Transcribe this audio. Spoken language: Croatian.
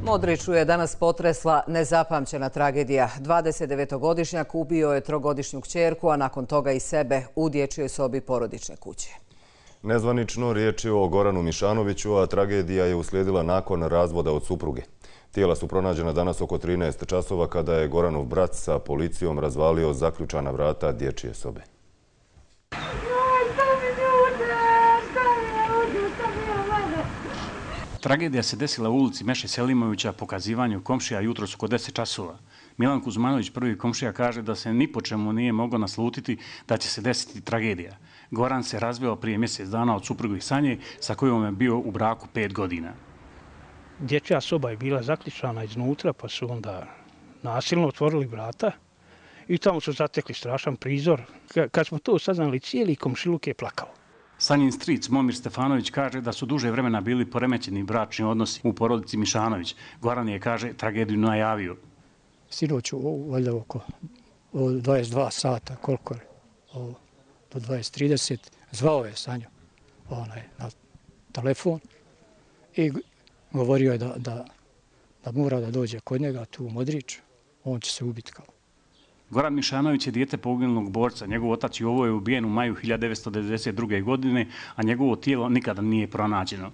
Modriću je danas potresla nezapamćena tragedija. 29-godišnjak ubio je 3-godišnju kćerku, a nakon toga i sebe u dječjoj sobi porodične kuće. Nezvanično riječ je o Goranu Mišanoviću, a tragedija je uslijedila nakon razvoda od supruge. Tijela su pronađena danas oko 13 časova kada je Goranov brat sa policijom razvalio zaključana vrata dječje sobe. Tragedija se desila u ulici Meše Selimovića po kazivanju komšija jutros oko 10 časova. Milan Kuzmanović, prvi komšija, kaže da se ni po čemu nije moglo naslutiti da će se desiti tragedija. Goran se razveo prije mjesec dana od supruge Sanje, sa kojom je bio u braku 5 godina. Dječja soba je bila zaključana iznutra, pa su onda nasilno otvorili vrata i tamo su zatekli strašan prizor. Kad smo to saznali, cijeli komšiluk je plakao. Sanjin stric Momir Stefanović kaže da su duže vremena bili poremećeni bračni odnosi u porodici Mišanović. Goran je, kaže, tragediju najavio. Sinoć, valjda oko 22 sata, koliko je, do 20:30, zvao je Sanju na telefon i govorio je da mora da dođe kod njega tu u Modrić, on će se ubiti kao. Goran Mišanović je dijete poginulog borca. Njegov otac Jovo je ubijen u maju 1992. godine, a njegovo tijelo nikada nije pronađeno.